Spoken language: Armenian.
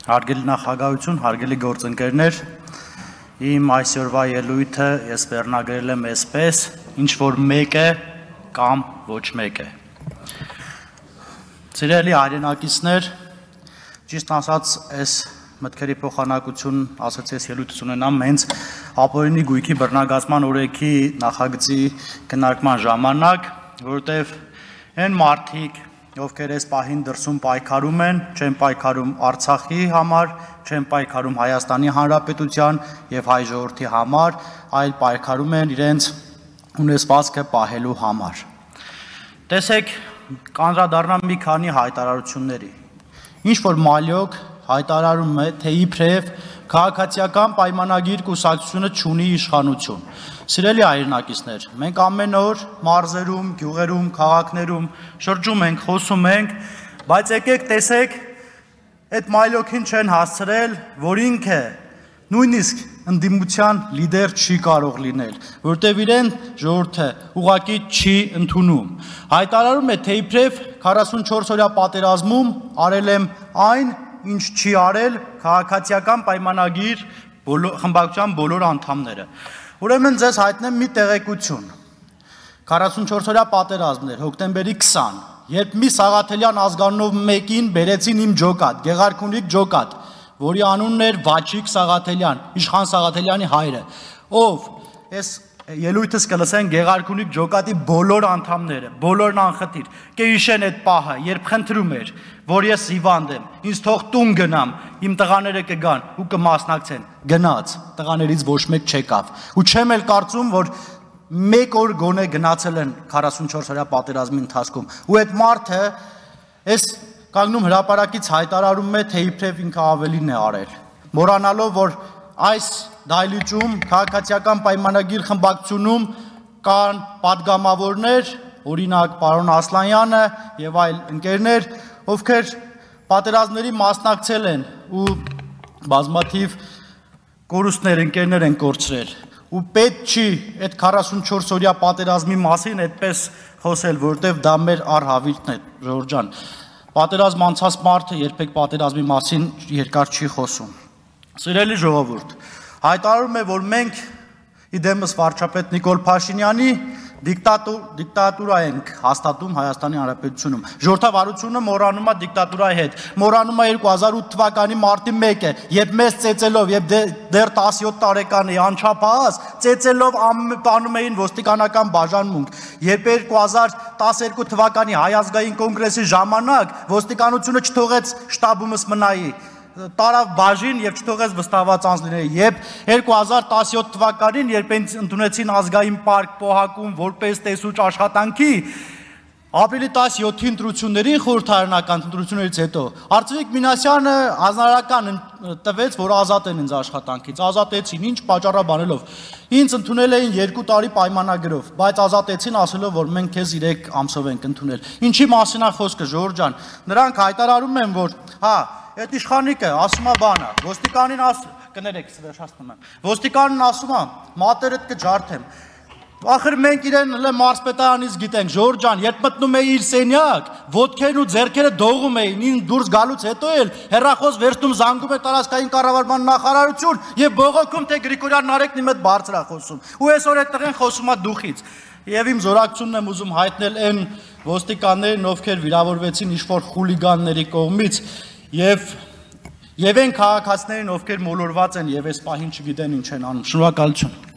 Հարգելի նախագահություն, հարգելի գործընկերներ, իմ այսօրվա ելույթը ես վերնագրել եմ այսպես, ինչ որ մեկ է կամ ոչ մեկ է։ Սիրելի հայրենակիցներ, ճիշտ ասած, այս մտքերի փոխանակություն ասացի ես ելույթ ունենամ հենց ապօրինի գույքի բռնագծման օրենքի նախագծի քննարկման ժամանակ, որովհետև այն մարդիկ ովքեր այս պահին դրսում պայքարում են, չեն պայքարում Արցախի համար, չեն պայքարում Հայաստանի Հանրապետության եւ հայ ժողովրդի համար, այլ պայքարում են իրենց ունեցվածքը պահելու համար։ Տեսեք, կանդրադառնամ մի քանի հայտարարությունների։ Ինչ որ Մալյոկ հայտարարում է, թե իբրև քաղաքացիական պայմանագիր կուսակցությունը չունի իշխանություն։ Սիրելի հայրենակիցներ, մենք ամեն օր մարզերում, գյուղերում, քաղաքներում շրջում ենք, խոսում ենք, բայց եկեք տեսեք, այդ Մալյոկին չեն հասցրել, որ ինքը նույնիսկ ընդդիմության լիդեր չի կարող լինել, որտեղ իրեն ժողովուրդը ուղղակի չի ընդունում։ Հայտարարում է, թե իբրև 44 օրյա պատերազմում արել եմ այն, ինչ չի արել քաղաքացիական պայմանագիր խմբակցության բոլոր անդամները։ Ուրեմն ձեզ հայտնեմ մի տեղեկություն։ 44 օրյա պատերազմներ, հոկտեմբերի 20, երբ մի Սաղաթելյան ազգանունով մեկին բերեցին իմ ջոկատ, Գեղարքունիք ջոկատ, որի անունն էր Վաչիկ Սաղաթելյան, Իշխան Սաղաթելյանի հայրը, ով այս ելույթս կլսեն Գեղարքունիք ջոկատի բոլոր անդամները, բոլորն անխտիր, կհիշեն այդ պահը, երբ խնդրում էր, որ ես հիվանդ եմ, ինձ թող տուն գնամ, իմ տղաները կգան ու կմասնակցեն, գնաց, տղաներից ոչ մեկ չեկավ, ու չեմ էլ կարծում, որ մեկ օր գոնե գնացել են 44 օրյա պատերազմի ընթացքում, ու այդ մարդը այս կանգնում հրապարակից հայտարարում է, թե իբրև ինքը ավելին է արել, մոռանալով, որ այս դահլիճում քաղաքացիական պայմանագիր խմբակցությունում կան պատգամավորներ, օրինակ պարոն Ասլանյանը եւ այլ ընկերներ, ովքեր պատերազմների մասնակցել են ու բազմաթիվ կորուստներ ընկերներ են կորցրել ու պետք չի այդ 44 օրյա պատերազմի մասին այդպես խոսել, որովհետեւ դա մեր առհավիրքն է, Ժորժ ջան։ Պատերազմ անցած մարդը երբեք պատերազմի մասին երկար չի խոսում։ Սիրելի ժողովուրդ, հայտարարում է, որ մենք իդեմս վարչապետ Նիկոլ Փաշինյանի դիկտատուրա ենք հաստատում Հայաստանի Հանրապետությունում։ Ժողովրդավարությունը մոռանում է դիկտատուրայի հետ, մոռանում է 2008 թվականի մարտի 1-ը, երբ մեզ ծեծելով, երբ դեռ 17 տարեկան էի անչափահաս, ծեծելով անում էին ոստիկանական բաժանմունք, երբ 2012 թվականի Հայ ազգային կոնգրեսի ժամանակ ոստիկանությունը չթողեց շտաբումս մնայի, տարավ բաժին եւ չթողեց վստահված անձ լինել, երբ 2017 թվականին, երբ ընդունեցին ազգային պարկ Պոհակում որպես տեսուչ աշխատանքի, ապրիլի 17-ի ընտրություններին խորհրդարանական ընտրություններից հետո Արծվիկ Մինասյանը հանրարական տվեց, որ ազատ են ինձ աշխատանքից, ազատեցին, ինչ պատճառաբանելով, ինձ ընդունել էին 2 տարի պայմանագրով, բայց ազատեցին ասելով, որ մենք քեզ 3 ամսով ենք ընդունել։ Ինչի մասին է խոսքը, Ժորժ ջան, նրանք հայտարարում են, որ այդ իշխանիկը ասում է բանը, ոստիկանին կներեք, վերջացնում եմ, ոստիկանին ասում է, մատերդ կջարդեմ, ախր մենք իրեն Մարսպետայանից գիտենք, Ժորժ ջան, երբ մտնում է իր սենյակ, ոտքերն ու ձեռքերը դողում էին, ին դուրս գալուց հետո էլ հեռախոս վերցնում զանգում է տարածքային կառավարման նախարարություն եւ բողոքում, թե Գրիգորյան Նարեկն իմ հետ բարձր է խոսում, ու այսօր այդ տղեն խոսում է դուխից, եւ իմ զորակցությունն եմ ուզում հայտնել այն ոստիկաններին, ովքեր վիրավորվեցին ինչ-որ խուլիգանների կողմից Եվ այն քաղաքացիներին, ովքեր մոլորված են եւ այս պահին չգիտեն ինչ են անում։ Շնորհակալություն։